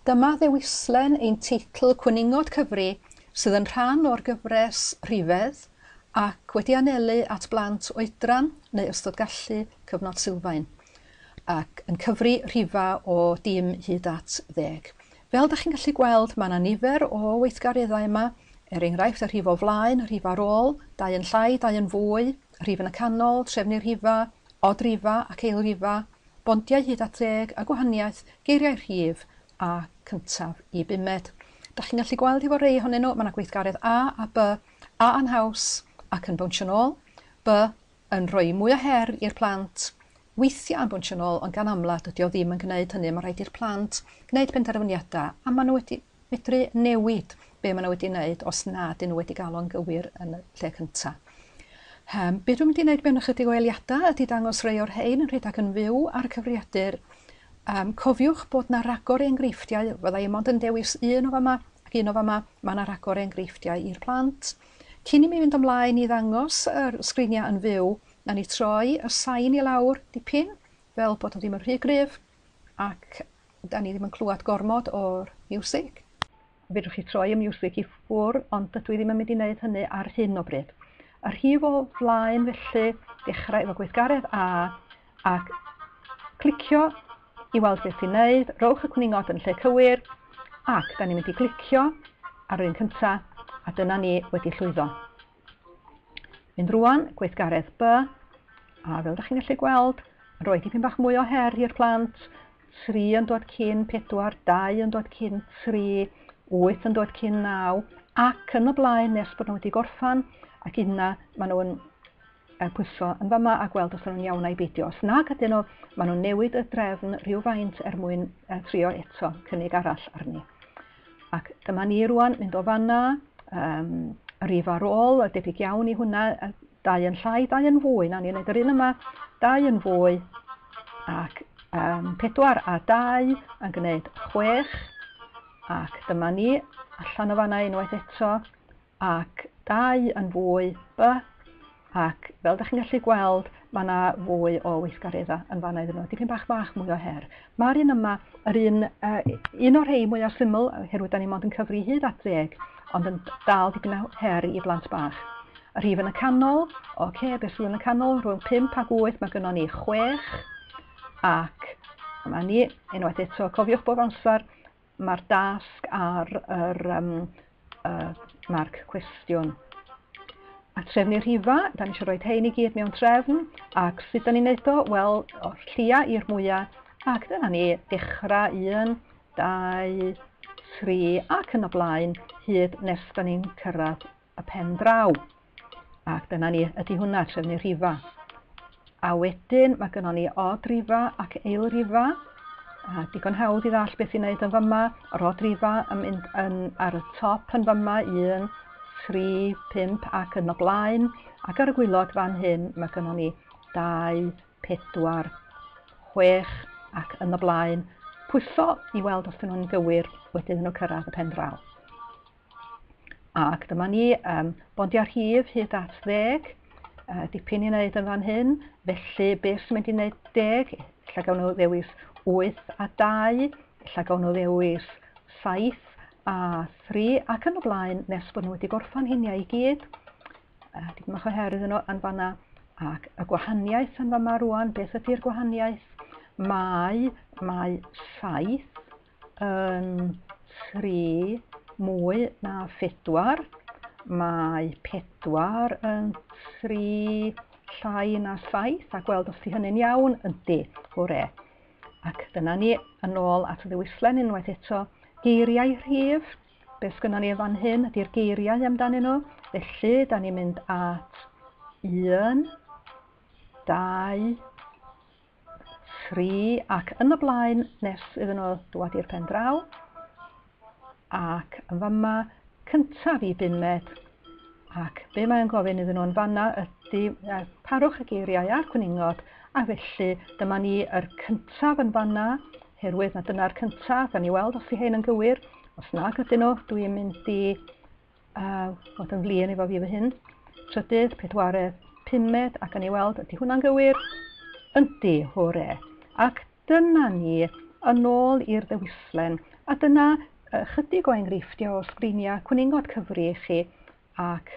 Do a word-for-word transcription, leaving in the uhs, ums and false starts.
Dyma ddewislen ein teitl Cwningod Cyfri sydd yn rhan o'r gyfres Rhifedd ac wedi anelu at blant oedran neu ystod gallu cyfnod sylfaen ac yn cyfri rhifa o dim hyd at ddeg. Fel dach chi'n gallu gweld, mae yna nifer o weithgareddau yma, er enghraifft y rhif o flaen, y rhif ar ôl, dau yn llai, dau yn fwy, rhif yn y canol, trefnu rhifa, odrifa ac eilrifa, bondiau hyd at ddeg a gwahaniaeth, geiriau rhif a cyntaf i bumed. Dach chi'n gallu gweld efo rei ohonyn nhw, mae yna gweithgaredd A a B, A yn haws ac yn bownsio nôl, B yn rhoi mwy o her i'r plant, weithiau yn bownsio nôl, ond gan amla dydy o ddim yn gwneud hynny. Mae rhaid i'r plant gwneud penderfyniadau a maen nhw wedi medru newid be maen nhw wedi wneud os nad ydyn nhw wedi gael o'n gywir yn y lle cyntaf. Um, be dwi'n mynd i wneud mewn ychydig o eiliadau ydy dangos rhai o'r rhain yn rhedeg yn fyw ar y cyfrifiadur. Um, cofiwch bod na ragor enghreifftiau, fydda i mond yn dewis un o fama ac un o fama, mae yna ragor enghreifftiau i'r plant. Cyn i mi fynd ymlaen i ddangos yr sgriniau yn fyw, na ni troi y sain i lawr dipyn, fel bod o ddim yn rhy gryf, ac da ni ddim yn clywed gormod o'r miwsig. Fedrwch chi troi y miwsig i ffwrdd, ond dydw i ddim yn mynd i wneud hynny ar hyn o bryd. Y rhif o flaen felly, dechrau efo gweithgaredd A, ac clicio i weld beth sy'n neud, rowch y cwningod yn lle cywir, ac da ni'n mynd i glicio ar yr un cyntaf, a dyna ni wedi llwyddo. Mynd rwan, gweithgaredd B, a fel ydych chi'n gallu gweld, rhoi dipyn bach mwy o her i'r plant, tri yn dod cyn pedwar, dau yn dod cyn tri, wyth yn dod cyn naw, ac yn y blaen nes bod nhw wedi gorffan, ac yna maen nhw'n pwyso yn fama a gweld os nhw'n iawn a'i beidio. Os nag ydyn nhw, maen nhw'n newid y drefn rhywfaint er mwyn trio eto cynnig arall arni. Ac dyma ni rwan mynd o fanna, um, y rif ar ôl, y debyg iawn i hwnna, dau yn llai, dau yn fwy. Na ni'n neud yr un yma, dau yn fwy, ac um, pedwar a dau yn gwneud chwech, ac dyma ni allan o fanna unwaith eto, ac dau yn fwy, B, ac fel ydych chi'n gallu gweld, mae yna fwy o weithgareddau yn fanna iddyn nhw, dipyn bach bach mwy o her. Mae'r un yma, yr un, uh, un o'r rhai mwyaf syml, oherwydd da ni mond yn cyfri hyd at ddeg, ond yn dal dipyn o her i blant bach. Y rhif yn y canol, oce, okay, beth sydd yn y canol, rhwng pump ac wyth, mae gynnon ni chwech, ac yma ni, unwaith eto, cofiwch bob amser, mae'r dasg ar yr um, uh, marc cwestiwn. A trefnu rhifa, da ni eisiau rhoi rhein i gyd mewn trefn, ac sut da ni'n neud o? Wel, o'r llia i'r mwyaf, ac dyna ni dechrau un, dau, tri, ac yn y blaen, hyd nes da ni'n cyrraedd y pen draw. Ac dyna ni, ydy hwnna, trefnu rhifa. A wedyn mae gynnon ni odrifa ac eilrifa. A digon hawdd i ddall beth i'n neud yn fama. Yr odrifa yn mynd yn, ar y top yn fama, un, tri, pump ac yn y blaen. Ac ar y gwaelod fan hyn mae gynnon ni dau, pedwar, chwech ac yn y blaen. Pwyso i weld os ydyn nhw'n gywir wedyn iddyn nhw cyrraedd y pen draw. Ac dyma ni, um, bondiau rhif hyd at ddeg, uh, dipyn i wneud yn fan hyn. Felly beth sy'n mynd i wneud deg? Ella gawn nhw ddewis wyth a dau, ella gawn nhw ddewis saith a thri, ac yn y blaen nes bod nhw wedi gorffan hynny i gyd. Uh, dipyn bach o her iddyn nhw yn fanna. Ac y gwahaniaeth yn fama rwan, beth ydy'r gwahaniaeth? Mae, mae saith yn tri mwy na phedwar. Mae pedwar yn tri llai na saith, a gweld os di hynny'n iawn, yndi, hwre. Ac dyna ni yn ôl at y ddewislen unwaith eto. Geiriau rhif, beth sgynnon ni fan hyn ydy'r geiriau amdanyn nhw. Felly, da ni'n mynd at un, dau, tri, ac yn y blaen nes iddyn nhw dŵad i'r pen draw. Ac yn fama, cyntaf i bumed. Ac be mae'n gofyn iddyn nhw yn fanna ydy parwch y geiriau a'r cwningod, a felly dyma ni yr cyntaf yn fanna, herwydd na dyna'r cyntaf, gawn ni weld os ydy hein yn gywir. Os nag ydyn nhw, dwi'n mynd i uh, fod yn flin efo fi fy hyn. Trydydd, pedwaredd, pumed, a gawn ni weld ydy hwnna'n gywir? Yndi, hwre. Ac dyna ni yn ôl i'r ddewislen. A dyna ychydig o enghreifftiau o sgriniau cwningod cyfri i chi ac